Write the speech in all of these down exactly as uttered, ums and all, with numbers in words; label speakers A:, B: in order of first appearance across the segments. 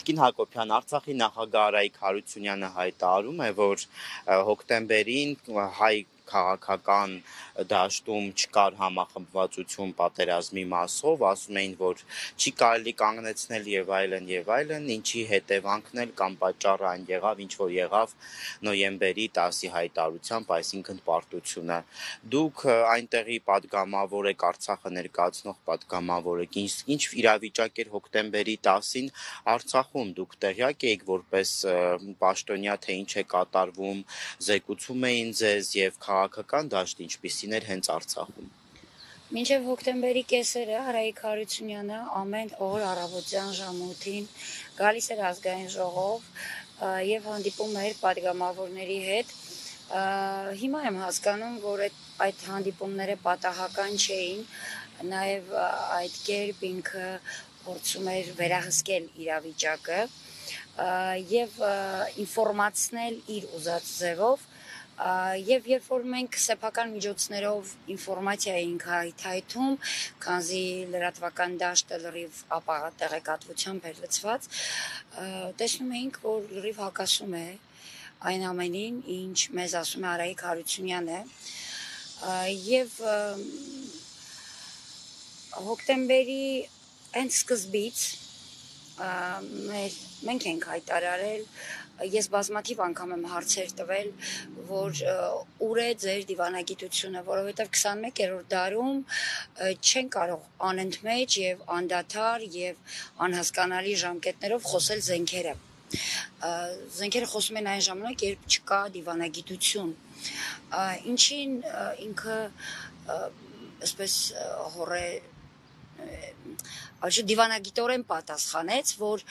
A: Կրկին Հակոբյան, Արցախի նախագահ Արայիկ Հարությունյանը հայտարարում է, որ հոկտեմբերին հայ քաղաքական դաշտում չկար համախմբվածություն պատերազմի մասով, ասում էին, որ չի կարելի կանգնեցնել եւ այլն եւ այլն, ինչի հետևանքն էլ կամ պատճառը այն եղավ, ինչ որ եղավ նոյեմբերի տասի հայտարարությամբ, այսինքն պարտությունը։ Դուք այնտեղի պատգամավոր եք, Արցախը ներկայացնող պատգամավոր եք, ինչ, ինչ իրավիճակ էր հոկտեմբերի տասին Արցախում, դուք տեղյակ եք որպես պաշտոնյա, թե ինչ է կատարվում, զեկուցում էին ձեզ եւ քաղաքական դաշտ ինչպիսին էր հենց Արցախում։
B: Մինչև հոկտեմբերի կեսերը Արայիկ Հարությունյանը ամեն օր առավոտյան ժամութին գալիս էր ազգային ժողով եւ հանդիպում էր պատգամավորների հետ։ Հիմա եմ հասկանում, որ այդ հանդիպումները պատահական չէին, նաեւ այդ կերպ ինքը փորձում էր վերահսկել իրավիճակը եւ ինֆորմացնել իր ուզած ձևով։ Եվ երբ որ մենք սեփական միջոցներով ինֆորմացիա էինք հայթայթում, քանզի լրատվական դաշտը լրիվ ապա տեղեկատվությամբ էր լցված, տեսնում էինք, որ լրիվ հակասում է այն ամենին, ինչ մեզ ասում է Արայիկ Հարությունյանը, եւ հոկտեմբերի հենց սկզբից մենք ենք հայտարարել, ես բազմաթիվ անգամ եմ հարցեր տվել, որ ուր է ձեր դիվանագիտությունը, որովհետև քսանմեկերորդ դարում չեն կարող անընդմեջ եւ անդադար եւ անհասկանալի ժամկետներով խոսել զենքերը։ Զենքերը խոսում են այն ժամանակ, երբ չկա դիվանագիտություն, ինչին ինքը այսպես հորե Այլ դիվանագիտորեն պատասխանեց, որ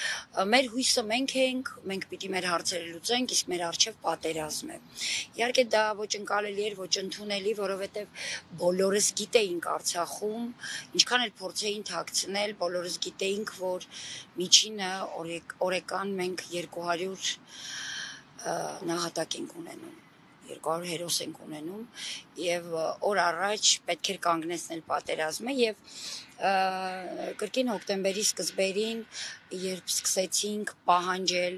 B: մեր հույսը մենք ենք, մենք պիտի մեր հարցերը լուծենք, իսկ մեր առջև պատերազմ է։ Իհարկե դա ոչ ընկալելի էր, ոչ ընդունելի, որովհետև բոլորս գիտեինք Արցախում, ինչքան էլ փորձեին թաքցնել, բոլորս գիտեինք, որ միջինը օրեկան մենք երկու հարյուր նահատակ ենք ունենում, երկու հարյուր հերոս ենք ունենում եւ օր առաջ պետք էր կանգնեցնել պատերազմը եւ կրկին հոկտեմբերի սկզբերին, երբ սկսեցինք պահանջել,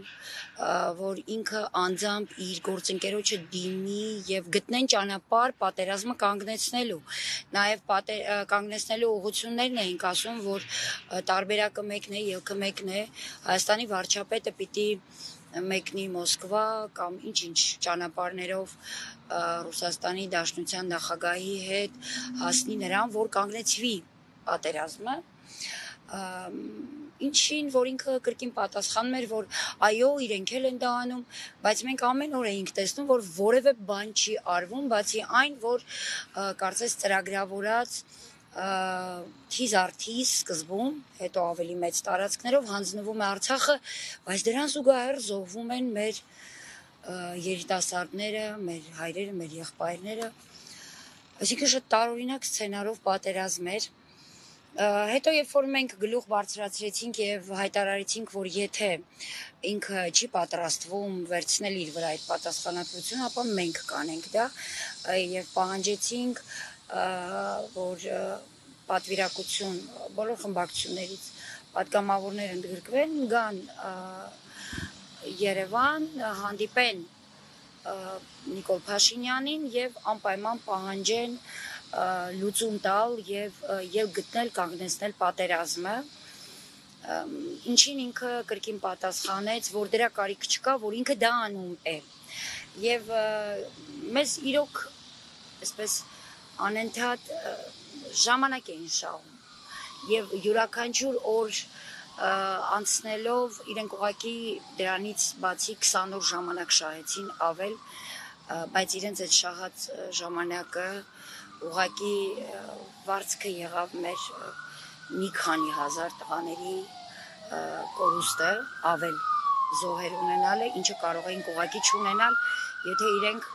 B: որ ինքը անձամբ իր գործընկերոջը դիմի եւ գտնեն ճանապարհ պատերազմը կանգնեցնելու, նաեւ կանգնեցնելու ուղղություններն էինք ասում, որ տարբերակը մեկն է, ելքը մեկն է, Հայաստանի վարչապետը պիտի մեկնի Մոսկվա կամ ինչ-ինչ ճանապարհներով Ռուսաստանի Դաշնության նախագահի հետ հասնի նրան, որ կանգնեցվի պատերազմը, ինչին, որ ինքը կրկին պատասխանում էր, որ այո, իրենք էլ են դա անում, բայց մենք ամեն օր էինք տեսնում, որ որևէ բան չի արվում, բացի այն, որ կարծես ծրագրավորած թիզ առ թիզ սկզբում, հետո ավելի մեծ տարածքներով հանձնվում է Արցախը, բայց դրան զուգահեռ զոհվում են մեր երիտասարդները, մեր հայրերը, մեր եղբայրները, այսինքն շատ տարօրինակ սցենարով պատերազմ էր։ Հետո երբ որ մենք գլուխ բարձրացրեցինք եւ հայտարարեցինք, որ եթե ինքը չի պատրաստվում վերցնել իր վրա այդ պատասխանատվությունը, ապա մենք կանենք դա եւ պահանջեցինք, որ պատվիրակություն բոլոր խմբակցություններից պատգամավորներ ընդգրկվեն, գան Երևան, հանդիպեն Նիկոլ Փաշինյանին եւ անպայման պահանջեն լուծում տալ եւ եւ գտնել կանգնեցնել պատերազմը, ինչին ինքը կրկին պատասխանեց, որ դրա կարիք չկա, որ ինքը դա անում է եւ մեզ իրոք այսպես անընդհատ ժամանակ էին շահում եւ յուրաքանչյուր օր անցնելով իրենք ուղղակի դրանից բացի քսան օր ժամանակ շահեցին ավել, բայց իրենց այդ շահած ժամանակը ուղղակի վարձքը եղավ մեր մի քանի հազար տղաների կորուստը, ավել զոհեր ունենալը, ինչը կարող էինք ուղղակի չունենալ, եթե իրենք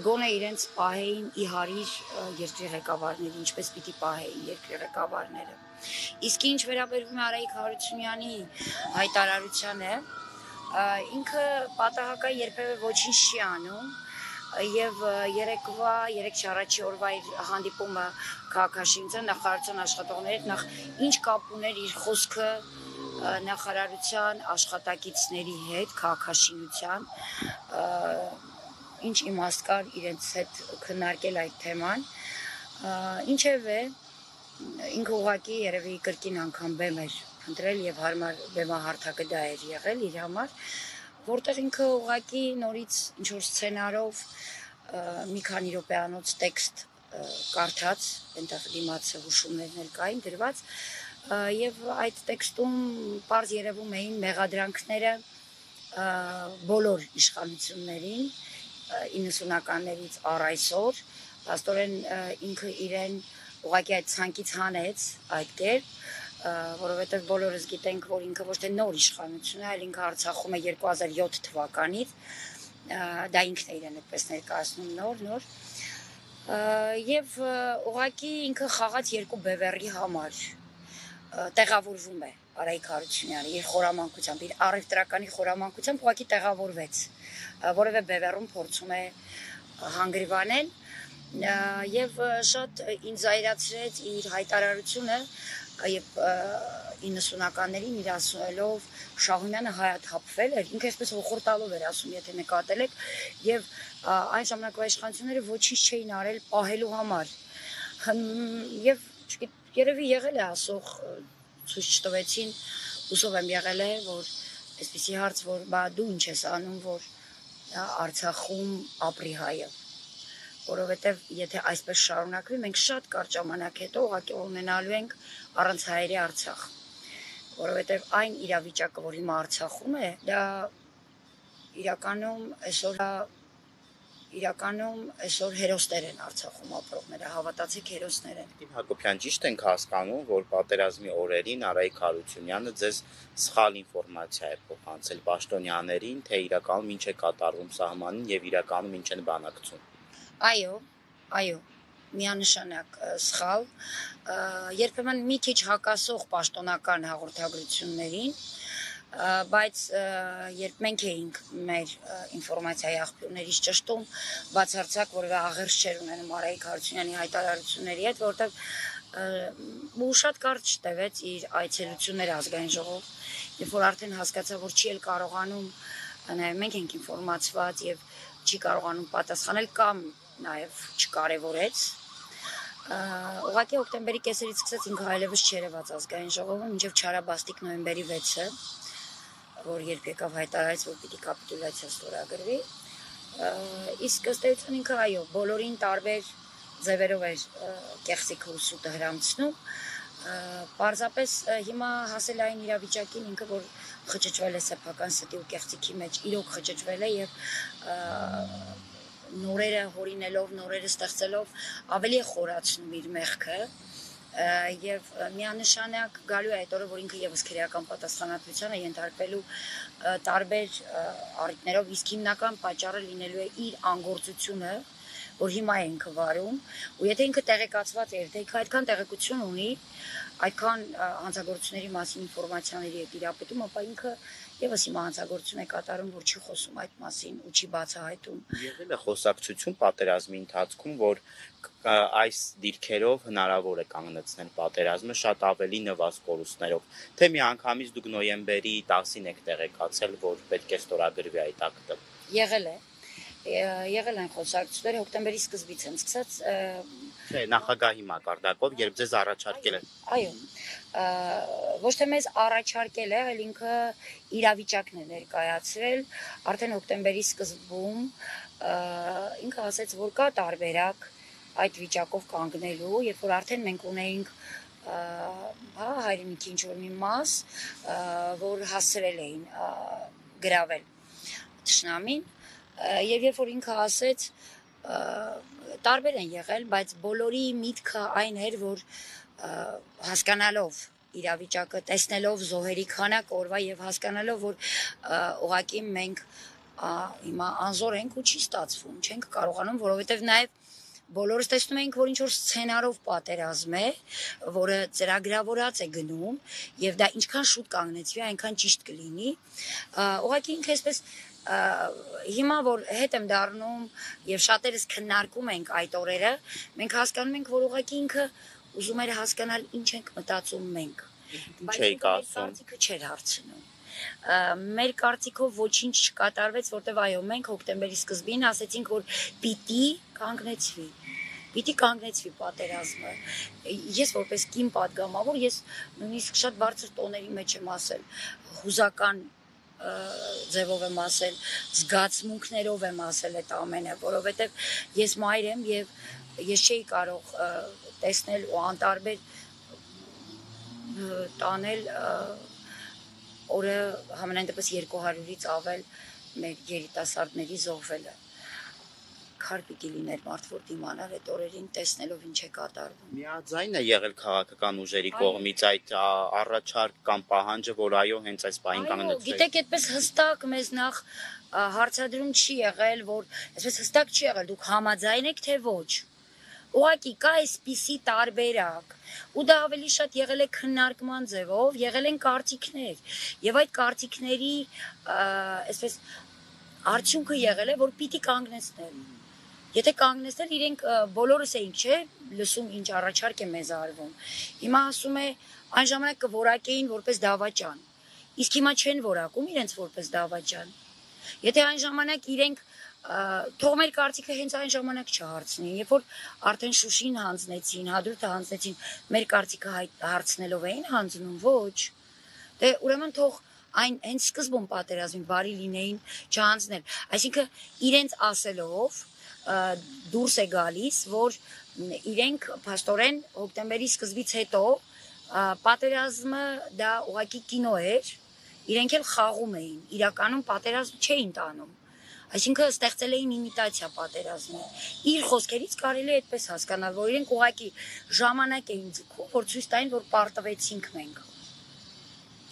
B: գոնե իրենց պահեին ի հարիր երկրի ղեկավարների, ինչպես պիտի պահեին երկրի ղեկավարները։ Իսկ ինչ վերաբերվում է Արայիկ Հարությունյանի հայտարարությանը, ինքը պատահական երբևէ ոչինչ չի անում, եւ երեկվա, երեք չառաջի օրվա իր հանդիպումը քաղաքաշինության նախարարության աշխատողների հետ նախ ինչ կապ ուներ իր խոսքը նախարարության աշխատակիցների հետ քաղաքաշինության ինչ իմաստ կար իրենց հետ քննարկել այդ թեման, ինչևէ ինքը ուղղակի երևի կրկին անգամ բեմ էր ընտրել եւ հարմար բեմահարթակը դա էր եղել իր համար, որտեղ ինքը ուղղակի նորից ինչ որ սցենարով մի քանի րոպեանոց տեքստ կարդաց, այնտեղ դիմացը հուշումներն էլ կային դրված, եւ այդ տեքստում պարզ երևում էին մեղադրանքները բոլոր իշխանություններին իննսունականներից առ այսօր, աստորեն ինքը իրեն ուղղակի այդ ցանկից հանեց այդ կերպ, որովհետև բոլորս գիտենք, որ ինքը ոչ թե նոր իշխանություն է, այլ ինքը Արցախում է երկու հազար յոթ թվականից, դա ինքն է իրեն այդպես ներկայացնում նոր, նոր, եւ ուղղակի ինքը խաղաց երկու բևեռի համար, տեղավորվում է Արայիկ Հարությունյանը իր խորամանկությամբ, իր առևտրականի խորամանկությամբ ուղղակի տեղավորվեց, որևէ բևեռում փորձում է հանգրվանել եւ շատ ինձ զայրացրեց իր հայտարարությունը եւ իննսունականներին իր ասելով Շահումյանը հայաթափվել էր, ինքը այսպես ոխոր տալով էր ասում, եթե նկատել եք, եւ այն ժամանակվա իշխանությունները ոչինչ չէին արել պահելու համար, եւ երևի եղել է ասող ցույց չտվեցին, հուսով եմ եղել է, որ այսպեսի հարց, որ բա դու ինչ ես անում, որ Արցախում ապրի հայը, որովհետև եթե այսպես շարունակվի, մենք շատ կարճ ժամանակ հետո ուղղակի ունենալու ենք առանց հայերի Արցախ, որովհետև այն իրավիճակը, որ հիմա Արցախում է, դա իրականում այսօր իրականում այսօր հերոսներ են Արցախում ապրողները, հավատացեք հերոսներ են։
A: Տիմ Հակոբյան, ճիշտ ենք հասկանում, որ պատերազմի օրերին Արայիկ Հարությունյանը ձեզ սխալ ինֆորմացիա է փոխանցել պաշտոնյաներին, թե իրականում ինչ է կատարվում սահմանին եւ իրականում ինչ են բանակցում։
B: Այո, այո, միանշանակ սխալ, երբեմն մի քիչ հակասող պաշտոնական հաղորդագրություններին, բայց երբ մենք էինք մեր ինֆորմացիայի աղբյուրներից ճշտում, բացարձակ որևէ աղերս չէր ունենում Արայիկ Հարությունյանի հայտարարությունների հետ, որովհետև ու շատ կարճ տևեց իր այցելությունները ազգային ժողով, երբ որ արդեն հասկացա, որ չի էլ կարողանում, նաև մենք ենք ինֆորմացված եւ չի կարողանում պատասխանել կամ նաև չկարևորեց, ուղղակի հոկտեմբերի կեսերից սկսեց ինքը այլևս չերևաց ազգային ժողովում, մինչև չարաբաստիկ նոյեմբերի վեցը, որ երբ եկավ հայտարարեց, որ պիտի կապիտուլյացիա ստորագրվի, իսկ ըստ էության ինքը այո, բոլորին տարբեր ձևերով էր կեղծիք հուսուտը հրամցնում, պարզապես հիմա հասել այն իրավիճակին ինքը, որ խճճվել է սեփական ստի ու կեղծիքի մեջ, իրոք խճճվել է եւ նորերը հորինելով, նորերը ստեղծելով ավելի է խորացնում իր մեղքը եւ միանշանակ գալու է այդ օրը, որ ինքը եւս քրեական պատասխանատվության է ենթարկվելու տարբեր առիթներով, իսկ հիմնական պատճառը լինելու է իր անգործությունը, որ հիմա է ինքը վարում, ու եթե ինքը տեղեկացված է, թե ինքը այդքան տեղեկություն ունի, այդքան հանցագործությունների մասին ինֆորմացիաների է տիրապետում, ապա ինքը եւս հիմա հանցագործություն է կատարում, որ չի խոսում այդ մասին ու չի բացահայտում։
A: Եղել է խոսակցություն պատերազմի ընթացքում, որ այս դիրքերով հնարավոր է կանգնեցնել պատերազմը շատ ավելի նվազ կորուստներով, թե միանգամից դուք նոյեմբերի տասին եք տեղեկացել, որ պետք է ստորագրվի այդ ակտը։
B: Եղել է, եղել են խոսակցությունները, հոկտեմբերի սկզբից են սկսած։
A: Չէ, նախագահի մակարդակով, երբ ձեզ առաջարկել են։
B: Այո, ոչ թե մեզ առաջարկել է, այլ ինքը իրավիճակն է ներկայացրել, արդեն հոկտեմբերի սկզբում ինքը ասաց, որ կա տարբերակ այդ վիճակով կանգնելու, երբ որ արդեն մենք ունեինք հա հայրենիքի ինչ-որ մի մաս, որ հասցրել էին գրավել թշնամին, եւ երբ որ ինքը ասեց, տարբեր են եղել, բայց բոլորի միտքը այն էր, որ հասկանալով իրավիճակը, տեսնելով զոհերի քանակը օրվա եւ հասկանալով, որ ուղղակի մենք հիմա անզոր ենք ու չի ստացվում, չենք կարողանում, որովհետեւ նաեւ բոլորս տեսնում էինք, որ ինչ-որ սցենարով պատերազմ է, որը ծրագրավորած է գնում, եւ դա ինչքան շուտ կանգնեցվի, այնքան ճիշտ կլինի, ուղղակի ինքը այսպես հիմա որ հետ եմ դառնում եւ շատերս քննարկում ենք այդ օրերը, մենք հասկանում ենք, որ ուղղակի ինքը ուզում էր հասկանալ ինչ ենք մտածում մենք,
A: Ինչ էիք ասում։
B: Կարծիքը չէր հարցնում։ Մեր կարծիքով ոչինչ չկատարվեց, որտեվ այո, մենք հոկտեմբերի սկզբին ասեցինք, որ պիտի կանգնեցվի։ Պիտի կանգնեցվի պատերազմը։ Ես որպես կին պատգամավոր, ես նույնիսկ շատ բարձր տոների մեջ եմ ասել, հուզական ձևով եմ ասել, զգացմունքներով եմ ասել այդ ամենը, որովհետև ես մայր եմ եւ ես չէի կարող տեսնել ու անտարբեր տանել օրը համենայն դեպս երկու հարյուրից ավել մեր երիտասարդների զոհվելը։ Քար պիտի լիներ մարդ, որ դիմանար այդ օրերին տեսնելով ինչ է կատարվում։
A: Միաձայն է եղել քաղաքական ուժերի կողմից այդ առաջարկ կամ պահանջը, որ այո, հենց այս պահին կանգնեցվի։
B: Գիտեք, այդպես հստակ մեզ նախ հարցադրում չի եղել, որ այսպես հստակ չի եղել, դուք համաձայն եք, թե ոչ։ Ուղղակի կա այսպիսի տարբերակ, ու դա ավելի շատ եղել է քննարկման ձևով, եղել են կարծիքներ, եւ այդ կարծիքների այսպես արդյունքը եղել է, որ պիտի կանգնեցնել։ Եթե կանգնեցնել, իրենք բոլորս էինք, չէ, լսում ինչ առաջարկ է մեզ արվում։ Հիմա ասում է, այն ժամանակ կորակեին որպես դավաճան, իսկ հիմա չեն որակում իրենց որպես դավաճան։ Եթե այն ժամանակ իրենք թող մեր կարծիքը հենց այն ժամանակ չհարցնի, երբ որ արդեն Շուշին հանձնեցին, Հադրութը հանձնեցին, մեր կարծիքը հարցնելով էին հանձնում, ոչ։ Դե ուրեմն թող այն հենց սկզբում պատերազմին բարի լինեին չհանձնել։ Այսինքն իրենց ասելով դուրս է գալիս, որ իրենք փաստորեն հոկտեմբերի սկզբից հետո պատերազմը դա ուղղակի կինո էր, իրենք էլ խաղում էին, իրականում պատերազմ չէին տանում։ Այսինքն ստեղծել էին իմիտացիա պատերազմի։ Իր խոսքերից կարելի է այդպես հասկանալ, որ իրենք ուղղակի ժամանակ էին ձգում, որ ցույց տային, որ պարտվեցինք մենք։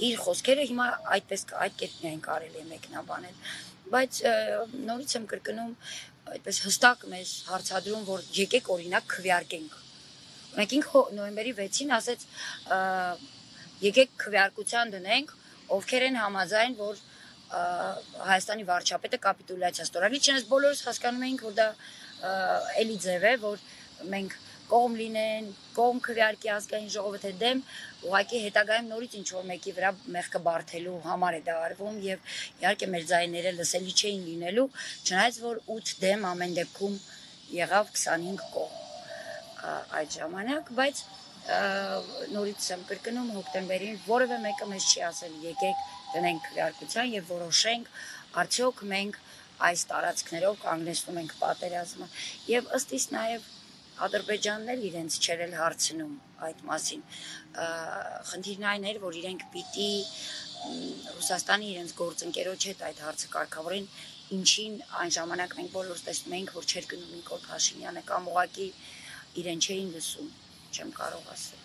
B: Իր խոսքերը հիմա այդպես այդ կերպ միայն կարելի է մեկնաբանել, բայց նորից եմ կրկնում, այդպես հստակ մեզ հարցադրում, որ եկեք օրինակ քվեարկենք։ Մենք ինք նոյեմբերի վեցին ասեց, եկեք քվեարկության դնենք, ովքեր են համաձայն, որ Հայաստանի վարչապետը կապիտուլյացիա ստորագրի, չնայած բոլորս հասկանում էինք, որ դա էլի ձև է, որ մենք կողմ լինեն, կողմ քվեարկի ազգային ժողովը թե դեմ, ուղղակի հետագայում նորից ինչ-որ մեկի վրա մեղքը բարթելու համար է դա արվում եւ իհարկե մեր ձայները լսելի չէին լինելու, չնայած որ ութ դեմ ամեն դեպքում եղավ քսանհինգ կողմ այդ ժամանակ, բայց նորից եմ կրկնում հոկտեմբերին որևէ մեկը մեզ չի ասել եկեք դնենք քվեարկության եւ որոշենք արդյոք մենք այս տարածքներով կանգնեցնում ենք պատերազմը եւ ըստ իս նաեւ Ադրբեջանն էլ իրենց չեր էլ հարցնում այդ մասին։ Խնդիրն այն էր, որ իրենք պիտի Ռուսաստանի իրենց գործընկերոջ հետ այդ հարցը կարգավորեն, ինչին այն ժամանակ մենք բոլորս տեսնում էինք, որ չէր գնում Նիկոլ Փաշինյանը կամ ուղղակի իրեն չէին լսում, չեմ կարող ասել։